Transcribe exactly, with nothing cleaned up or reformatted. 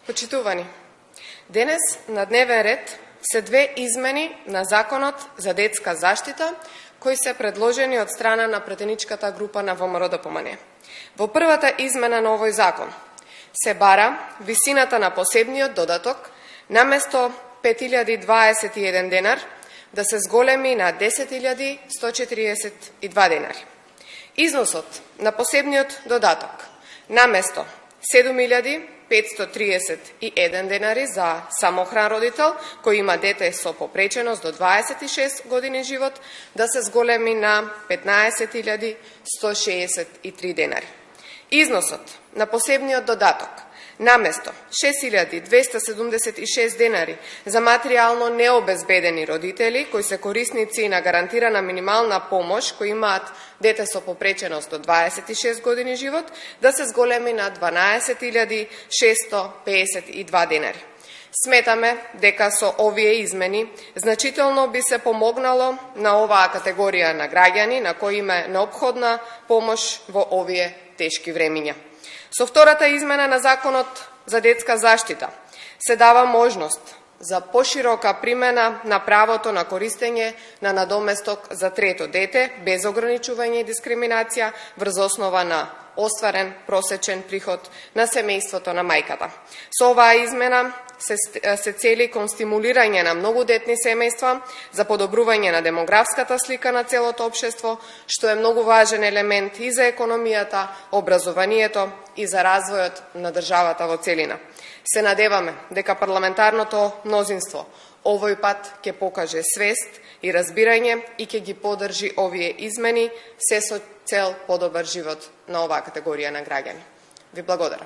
Почитувани, денес на дневен ред се две измени на Законот за детска заштита, кои се предложени од страна на претеничката група на ВМРО-ДПМН. Во првата измена на овој закон се бара висината на посебниот додаток наместо пет илјади дваесет и еден денар да се зголеми на десет илјади сто четириесет и два денари. Износот на посебниот додаток наместо седум илјади петстотини триесет и еден денари за самохран родител кој има дете со попреченост до дваесет и шест години живот да се зголеми на петнаесет илјади сто шеесет и три денари. Износот на посебниот додаток наместо шест илјади двеста седумдесет и шест денари за материјално необезбедени родители кои се корисници на гарантирана минимална помош кои имаат дете со попреченост до дваесет и шест години живот да се зголеми на дванаесет илјади шестоста пеесет и два денари. Сметаме дека со овие измени значително би се помогнало на оваа категорија на граѓани на кои им е неопходна помош во овие тешки времиња. Со втората измена на Законот за детска заштита се дава можност за поширока примена на правото на користење на надоместок за трето дете без ограничување и дискриминација врз основа на остварен просечен приход на семејството на мајката. Со оваа измена се, се цели кон стимулирање на многодетни семејства за подобрување на демографската слика на целото општество, што е многу важен елемент и за економијата, образованието и за развојот на државата во целина. Се надеваме дека парламентарното мнозинство овој пат ќе покаже свест и разбирање и ќе ги поддржи овие измени, се со цел подобар живот на оваа категорија на граѓани. Ви благодарам.